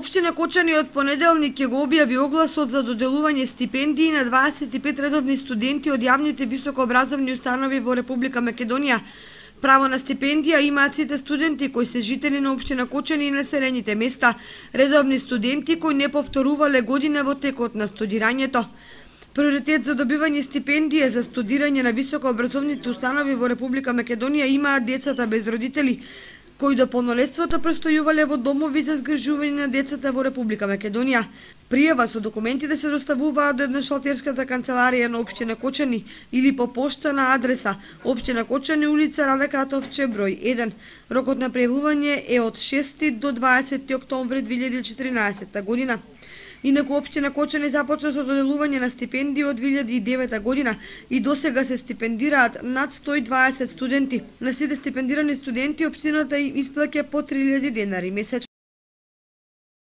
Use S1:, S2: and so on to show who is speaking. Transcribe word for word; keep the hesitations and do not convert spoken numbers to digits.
S1: Општина Кочани од понеделник ќе го објави огласот за доделување стипендии на дваесет и пет редовни студенти од јавните високообразовни установи во Република Македонија. Право на стипендија имаат сите студенти кои се жители на општина Кочани и населените места, редовни студенти кои не повторувале година во текот на студирањето. Приоритет за добивање стипендија за студирање на високообразовните установи во Република Македонија имаат децата без родители, кои до полнолетството престојувале во домови за згрижување на децата во Република Македонија. Пријава со документите се доставуваат до едношалтерската канцеларија на општина Кочани или по пошта на адреса општина Кочани, улица Рале Кратовче, број еден. Рокот на пријавување е од шести до дваесети октомври две илјади и четиринаесетта година. Инаку општина Кочани започна со доделување на стипендии од две илјади и девета година и досега се стипендираат над сто и дваесет студенти. На сите стипендирани студенти општината им исплаќа по три илјади денари месечно.